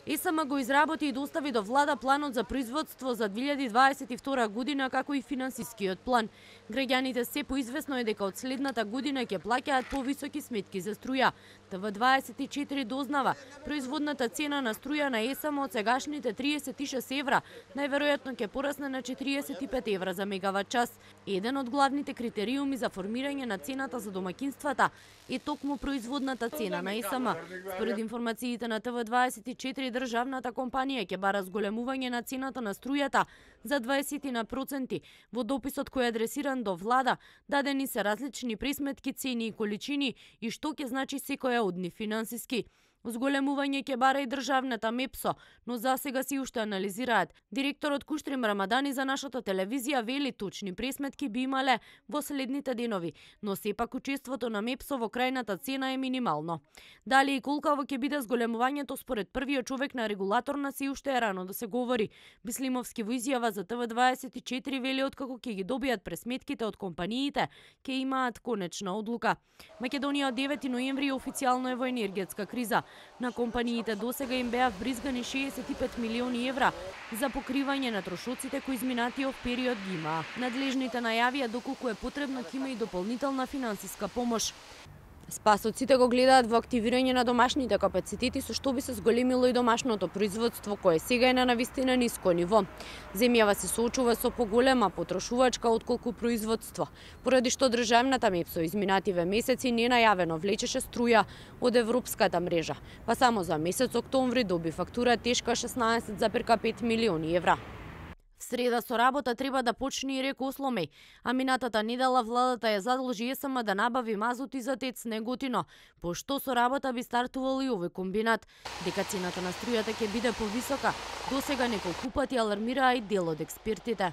ЕСМ го изработи и достави до влада планот за производство за 2022 година, како и финансискиот план. Граѓаните се поизвестно е дека од следната година ќе плаќаат повисоки сметки за струја. ТВ24 дознава, производната цена на струја на ЕСМ од сегашните 36 евра најверојатно ќе порасне на 45 евра за мегават час. Еден од главните критериуми за формирање на цената за домакинствата е токму производната цена на ЕСМ. Според информациите на ТВ24, државната компанија ќе бара зголемување на цената на струјата за 20%. Во дописот кој е адресиран до влада, дадени се различни пресметки, цени и количини и што ќе значи секоја од нив финансиски. Зголемување ќе бара и државната МЕПСО, но засега си уште анализираат. Директорот Куштрим Рамадани за нашата телевизија вели точни пресметки би имале во следните денови, но сепак учеството на МЕПСО во крајната цена е минимално. Дали и колкаво ќе биде зголемувањето според првиот човек на регулаторна си уште е рано да се говори. Бислимовски во изјава за ТВ24 вели откако ќе ги добијат пресметките од компаниите, ќе имаат конечна одлука. Македонија од 9 ноември официјално е во енергетска криза. На компаниите досега им беа вбризгани 65 милиони евра за покривање на трошоците кои изминатиот период ги имаа. Надлежните најавија доколку е потребно ќе има и дополнителна финансиска помош. Спасоците го гледаат во активирање на домашните капацитети со што би се зголемило и домашното производство кое сега е на навистина ниско ниво. Земјава се соочува со поголема потрошувачка отколку производство, поради што државната МЕПСО изминативе месеци ненајавено влечеше струја од европската мрежа, па само за месец октомври доби фактура тешка 16,5 милиони евра. В среда со работа треба да почне и река Осломеј, а минатата недела владата ја задолжи ЕСМ да набави мазут и за ТЕЦ Неготино, пошто со работа би стартувал и овој комбинат. Дека цената на струјата ќе биде повисока, досега неколку пати алармираа и дел од експертите.